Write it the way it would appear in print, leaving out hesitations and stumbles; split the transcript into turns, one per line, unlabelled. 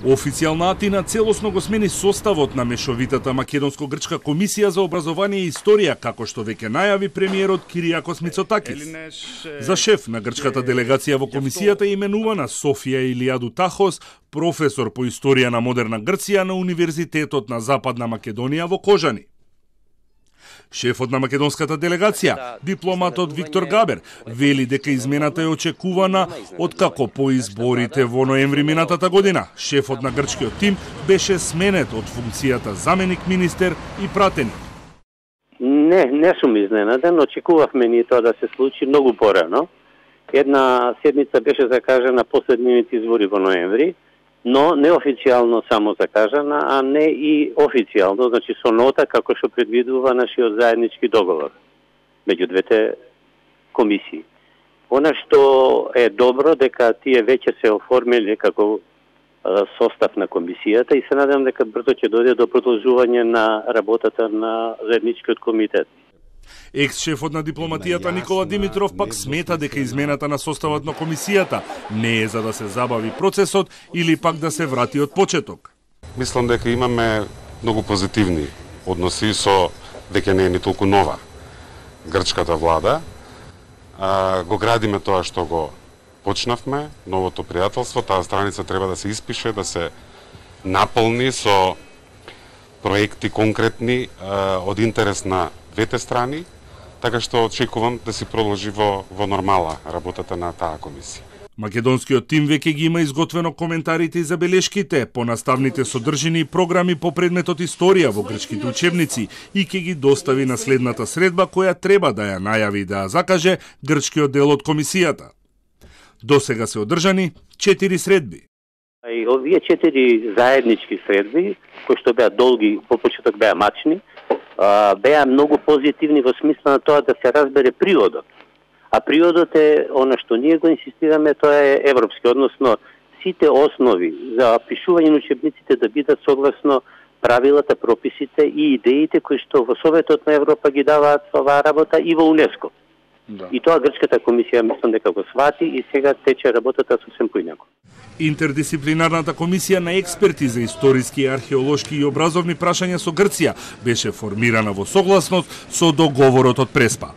Официјална Атина целосно го смени составот на мешовитата македонско-грчка комисија за образование и историја, како што веќе најави премиерот Кириакос Мицотакис. За шеф на грчката делегација во комисијата именувана Софија Илиаду Тахос, професор по историја на модерна Грција на Универзитетот на Западна Македонија во Кожани. Шефот на македонската делегација, дипломатот Виктор Габер, вели дека измената е очекувана откако по изборите во ноември минатата година. Шефот на грчкиот тим беше сменет од функцијата заменик министер и пратеник.
Не сум изненаден, очекувавме ни тоа да се случи многу порано. Една седница беше закажана последните избори во ноември, но неофицијално само закажана, а не и официјално, значи со нота како што предвидува нашиот заеднички договор меѓу двете комисии. Она што е добро дека тие веќе се оформиле како состав на комисијата и се надевам дека брзо ќе дојде до продолжување на работата на заедничкиот комитет.
Екс-шефот на дипломатијата Никола Димитров пак смета дека измената на составот на комисијата не е за да се забави процесот или пак да се врати од почеток.
Мислам дека имаме многу позитивни односи со дека не е ни толку нова грчката влада. Го градиме тоа што го почнавме, новото пријателство, таа страница треба да се испише, да се наполни со проекти конкретни од интерес на двете страни, така што очекувам да се продолжи во нормала работата на таа комисија.
Македонскиот тим веќе ги има изготвено коментарите и забелешките по наставните содржини и програми по предметот историја во грчките учебници и ќе ги достави на следната средба која треба да ја најави да ја закаже грчкиот дел од комисијата. До сега се одржани 4 средби.
И овие 4 заеднички средби, кои што беа долги, по почеток беа мачни, беа многу позитивни во смисла на тоа да се разбере приодот. А приодот е она што ние го инсистираме, тоа е европски, односно сите основи за пишување на учебниците да бидат согласно правилата, прописите и идеите кои што во Советот на Европа ги даваат оваа работа и во УНЕСКО. Да. И тоа грчката комисија мислам дека го свати и сега тече работата сосем поинаку.
Интердисциплинарната комисија на експерти за историски, археолошки и образовни прашања со Грција беше формирана во согласност со договорот од Преспа.